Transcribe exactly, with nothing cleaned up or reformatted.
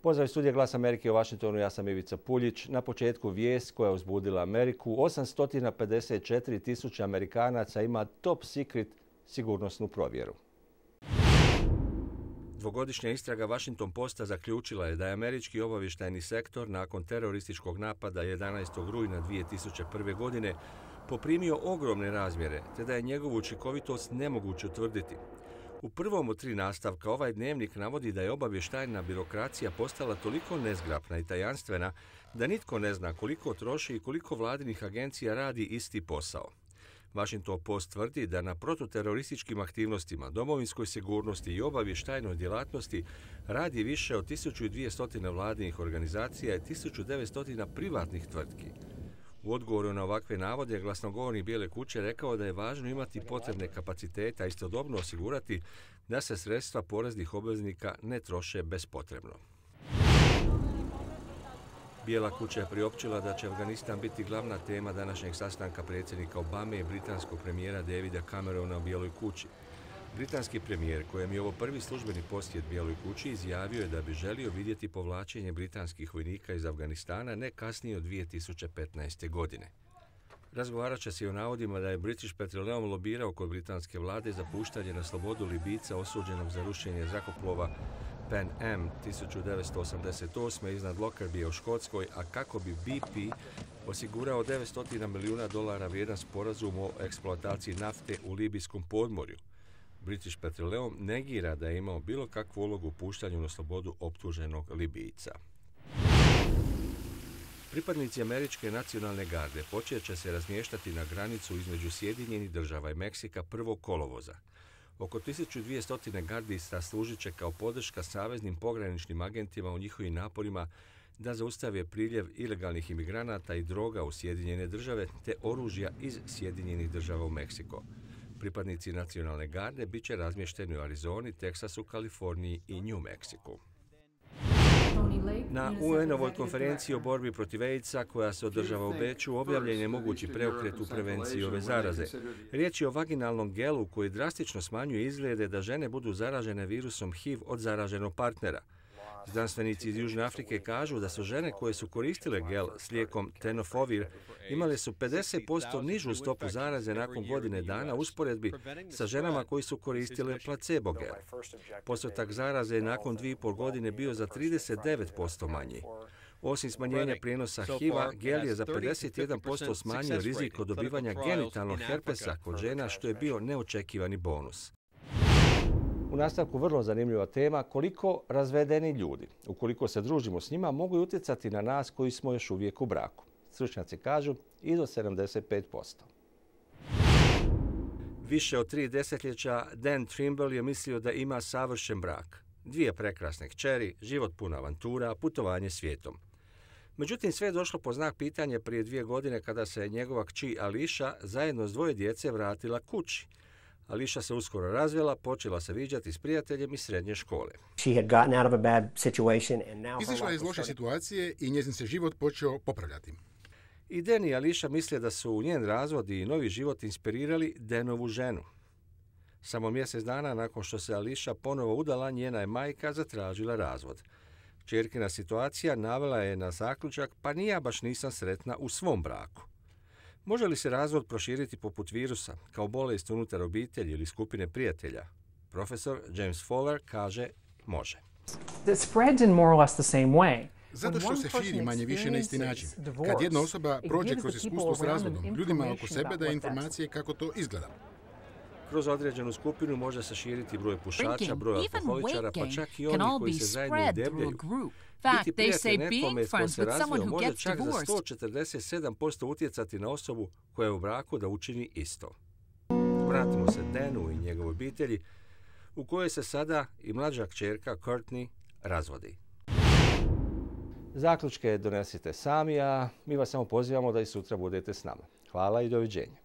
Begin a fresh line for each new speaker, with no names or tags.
Pozdrav iz studija Glas Amerike u Washingtonu, ja sam Ivica Puljić. Na početku vijest koja je uzbudila Ameriku. osamsto pedeset četiri tisuće Amerikanaca ima top secret sigurnosnu provjeru. Dvogodišnja istraga Washington Posta zaključila je da je američki obavještajni sektor nakon terorističkog napada jedanaestog rujna dvije tisuće prve. godine poprimio ogromne razmjere, te da je njegovu učinkovitost nemoguće utvrditi. U prvom od tri nastavka ovaj dnevnik navodi da je obavještajna birokracija postala toliko nezgrapna i tajanstvena da nitko ne zna koliko troši i koliko vladinih agencija radi isti posao. Washington Post tvrdi da na protuterorističkim aktivnostima, domovinskoj sigurnosti i obavještajnoj djelatnosti radi više od tisuću dvjesto vladinih organizacija i tisuću devetsto privatnih tvrtki. U odgovoru na ovakve navode, glasnogovornik Bijele kuće rekao da je važno imati potrebne kapacitete, a istodobno osigurati da se sredstva poreznih obveznika ne troše bespotrebno. Bijela kuća je priopćila da će Afganistan biti glavna tema današnjeg sastanka predsjednika Obame i britanskog premijera Davida Camerona u Bijeloj kući. Britanski premijer, kojem je ovo prvi službeni posjet Bijeloj kući, izjavio je da bi želio vidjeti povlačenje britanskih vojnika iz Afganistana ne kasnije od dvije tisuće petnaeste. godine. Razgovarat će se i o navodima da je British Petroleum lobirao kod britanske vlade za puštanje na slobodu Libijca osuđenog za rušenje zrakoplova Pan Am tisuću devetsto osamdeset osme. iznad Lockerbie u Škotskoj, a kako bi B P osigurao devetsto milijuna dolara vrijedan sporazum o eksploataciji nafte u libijskom podmorju. British Petroleum negira da je imao bilo kakvu ulogu u puštanju na slobodu optuženog Libijca. Pripadnici američke nacionalne garde počet će se razmještati na granicu između Sjedinjenih država i Meksika prvog kolovoza. Oko tisuću dvjesto gardista služit će kao podrška saveznim pograničnim agentima u njihovim naporima da zaustave priljev ilegalnih imigranata i droga u Sjedinjene države te oružja iz Sjedinjenih država u Meksiko. Pripadnici nacionalne garde bit će razmješteni u Arizoni, Teksasu, Kaliforniji i New Meksiku. Na U N-ovoj konferenciji o borbi protiv AIDS-a koja se održava u Beču objavljen je mogući preokret u prevenciji ove zaraze. Riječ je o vaginalnom gelu koji drastično smanjuje izglede da žene budu zaražene virusom H I V od zaraženog partnera. Znanstvenici iz Južne Afrike kažu da su žene koje su koristile gel s lijekom tenofovir imale su pedeset posto nižu stopu zaraze nakon godine dana u usporedbi sa ženama koji su koristile placebo gel. Postotak zaraze je nakon dvije i pol godine bio za trideset devet posto manji. Osim smanjenja prijenosa H I V-a, gel je za pedeset jedan posto smanjio rizik od dobivanja genitalnog herpesa kod žena, što je bio neočekivani bonus. U nastavku vrlo zanimljiva tema koliko razvedeni ljudi, ukoliko se družimo s njima, mogu utjecati na nas koji smo još uvijek u braku. Stručnjaci kažu i do sedamdeset pet posto. Više od tri desetljeća Dan Trimble je mislio da ima savršen brak. Dvije prekrasne kćeri, život pun avantura, putovanje svijetom. Međutim, sve je došlo po znak pitanja prije dvije godine kada se njegova kći Ališa zajedno s dvoje djece vratila kući. Ališa se uskoro razvela, počela se viđati s prijateljem iz srednje škole.
Izišla je iz loše situacije i njezin se život počeo popravljati.
I Dan i Ališa misle da su njen razvod i novi život inspirirali Danovu ženu. Samo mjesec dana nakon što se Ališa ponovo udala, njena je majka zatražila razvod. Kćerkina situacija navela je na zaključak, pa ni ja baš nisam sretna u svom braku. Može li se razvod proširiti poput virusa, kao bolest unutar obitelji ili skupine prijatelja? Profesor James Fowler kaže može.
Zato što se širi manje više na isti način. Kad jedna osoba prođe kroz iskustvo s razvodom, ljudima oko sebe daje informacije kako to izgleda.
Kroz određenu skupinu može se širiti broj pušača, broj alkoholičara, pa čak i onih koji se zajedno udebljaju. Biti prijatelj nekome s kojim se razvio može čak za sto četrdeset sedam posto utjecati na osobu koja je u braku da učini isto. Vratimo se Danu i njegovoj obitelji, u kojoj se sada i mlađa kćerka Courtney razvodi. Zaključke donesite sami, a mi vas samo pozivamo da i sutra budete s nama. Hvala i doviđenja.